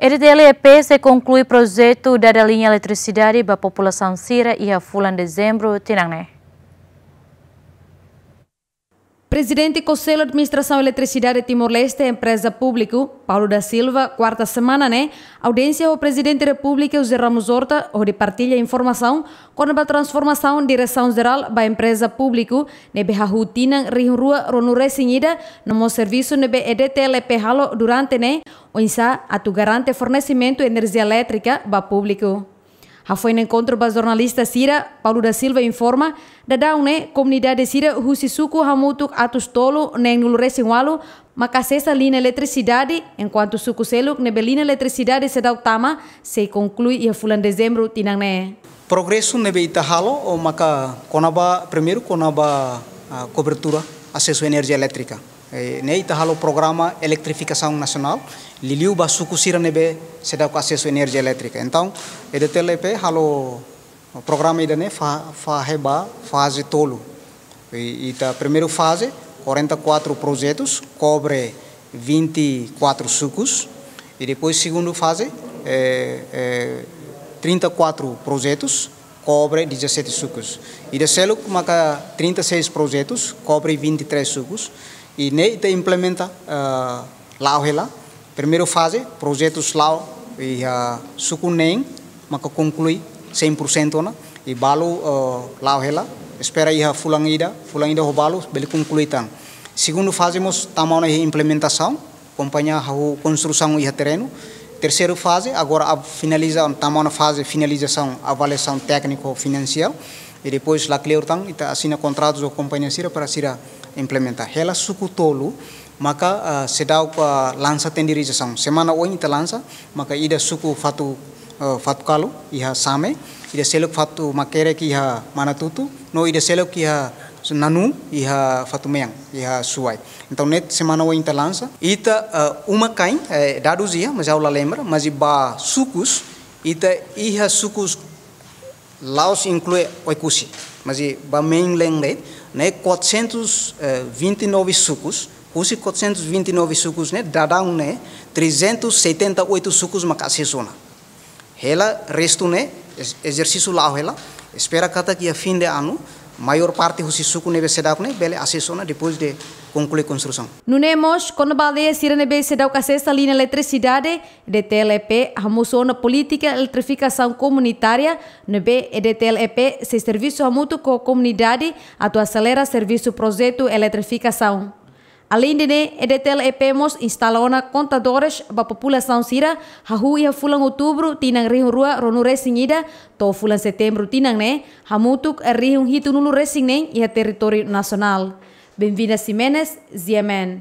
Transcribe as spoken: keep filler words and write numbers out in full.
EDTL-EP sei konklui projetu dada liña eletrisidade ba populasaun sira iha fulan Dezembru tinan ne'e. Prezidente Konsellu Administrasaun Eletrisidade Timor-Leste, Empreza Públiku, Paulo da Silva, kuarta semana ne'e, audiénsia ho Prezidente Repúblika José Ramos Horta, hodi partilla informasaun kona-ba transformasaun Diresaun Jerál ba Empreza Públiku, ne'ebé hahú tinan rihun rua ruanulu-resin-ida, no mós servisu ne'ebé EDTL-EP halo durante ne'e, oinsá atu garante fornesimentu enerjia elétrika ba públiku. Hafoin enkontru ba jornalista sira, Paulo da Silva informa, daudaun ne'e komunidade sira husi suku hamutuk atus tolu neen-nulu-resin-ualu maka asesa liña eletrisidade, enkuantu suku seluk ne'ebé liña eletrisidade seidauk tama, sei konklui iha fulan Dezembru tinan ne'e. Progresu ne'ebé ita halo, o maka kona-ba, primeiru kona-ba, ah, kobertura asesu enerjia elétrika. Eh, ne'e ita halo programa eletrifikasaun nasionál, liuliu ba suku sira ne'ebé seidauk asesu enerjia elétrika. Entaun, EDTL-EP halo programa ida-ne'e fa-, fahe ba faze tolu. I, ita primeiru faze, quarenta e quatro projetus, kobre vinte e quatro sukus. I depois segundu faze, eh, eh, trinta e quatro projetus, kobre dezassete sukus. Ida seluk maka trinta e seis projetus, kobre vinte e três sukus. I ne'e ita implementa, ah, la'o hela. Primeiru faze, projetus la'o iha suku neen maka konklui cem por cento ona. I balu, ah, la'o hela. Espera iha fulan ida, fulan ida ho balu bele konklui tan. Segundu faze mós tama ona iha implementasaun, kompañia hahú konstrusaun iha terrenu. Terseiru faze, agora a finaliza, tama ona faze finalizasaun, avaliasaun tékniku finansiál. I depois la kleur tan, ita asina kontratu ho kompañia sira para sira implementa. Hela suku tolu, maka, ah, seidauk, ah, lansa tenderizasaun. Semana oin ita lansa, maka ida suku Fatu, ah, Fatukalu, iha Same, ida seluk Fatu Makerek iha Manatutu, no ida seluk iha Nanu, iha Fatumean, iha Suai. Entaun, ne'e semana oin ita lansa. Ita, eh, uma-kain, eh, dadus iha, mas ha'u la lembra, mas ba sukus, ita iha sukus la'ós inklui Oekusi. Mas ba mainland ne'e, ne'e quatrocentos e vinte e nove sukus, husi quatrocentos e vinte e nove sukus ne'e, daudaun ne'e, trezentos e setenta e oito sukus maka asesu ona. Hela restu ne'e, ez-, ezersísiu la'o hela, espera katak iha fin de anu, maiór parte husi suku ne'ebé seidauk ne'e, bele asesu ona depois de konklui konstrusaun. Nune'e mós, kona-ba aldeia sira ne'ebé seidauk asesa liña eletrisidade, EDTL-EP hamosu ona polítika eletrifikasaun komunitária, ne'ebé EDTL-EP sei servisu hamutuk ho komunidade atu aselera servisu projetu eletrifikasaun. Aleinde ne'e, EDTL-EP mós instala ona kontadores ba populasaun sira, hahú iha fulan Outubru tinan rihun rua ruanulu-resin-ida, to'o fulan Setembru tinan ne'e, hamutuk rihun hitunulu-resin-neen iha territóriu nasionál. Benvinda Ximenes, G M N.